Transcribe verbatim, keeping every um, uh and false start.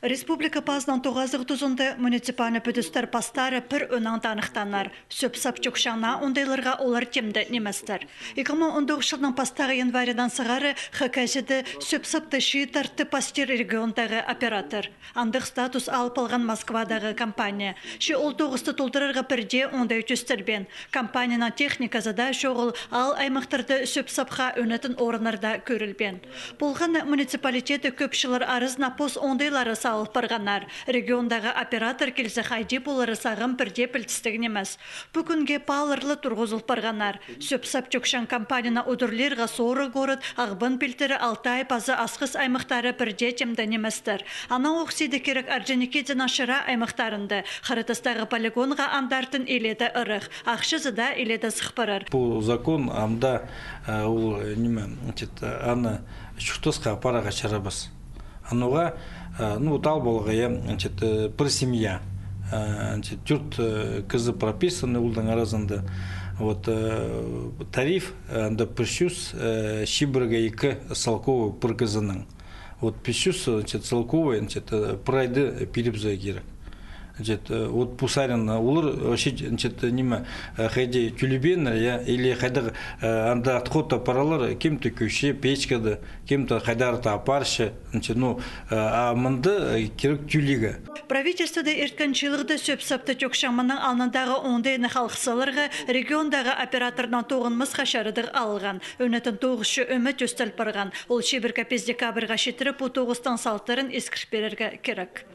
Республика пазының тоғазығ тузында муниципальный пӱдістер пастары пір ӧнең таныхтанар. Сӧп-сап чӧкчең наа оңдайларға олар тимде ниместер. Ікі муң он тоғызынҷы чылның пастағы январьдаң сығара Хакасияда сӧп-сапты чииттер тіп пастир региондағы оператор. Андағ статус алып алған Москвадағы компания. Че ол тоғысты толдырарға пірдее оңдай тӧстелбеен. Компанияның техниказы даа чоғыл, аал аймахтарда сӧп-сапха ӧнетін орыннар даа кӧрілбеен. Полған на, муниципалитеті кӧп чыллар аразына пос оңдайлары салыл парғаннар. Региондағы оператор килзе, хайди полары сағам пірдее пілдістіг нимес. Пӱкӱнге паалар ла турғызыл парғаннар. Сӧп-сап чӧкчең компанияны удурлирға Сооро город, Ағбан пилтірі, Алтай паза Асхыс аймахтары пірдее тимде ниместер. Анаң ох сиді кирек Орджоникидзенің чыра аймахтарында. Хараттастағы полигонға андартын иледе ырах. Ахчазы даа иледе сых парар. Пу закон амды, э, ол, э, ниме, значит, э, аны чуртасха апарарға чарабас. Анаң, э, ну, вот, аал поларға, я, значит, э, пір семья, э, значит, тӧрт, э, кізі прописаны олардың аразында. Вот, э, тариф, э, анда пір чӱс, э, чибіргі ікі салковай пір кізінің. Вот пис чӱс, значит, салковай, значит, э, пір айда пирібізерге кирек. Значит, э, вот пу саринаң олар, э, вообще, значит, ниме, э, хайди тӧлебееннер, я, или хайдағ, э, анда отходта паралар, кем-то кӧрче печкада, кем-то хайдар-да апарча, значит, ну, э, а мында, э, кирек тӧлирге. Правительствода ирткен чылығда сӧп-сапты чӧкчең мының алнындағы оңдайны халых саларға региондағы операторнаң тоғынмасха чарадығ алған. Ӧнетін тоғыс чоо ӧме тӧстел парған. Ол чибіргі пис декабрьға читіре пу тоғыстың салтарын искір пирерге кирек.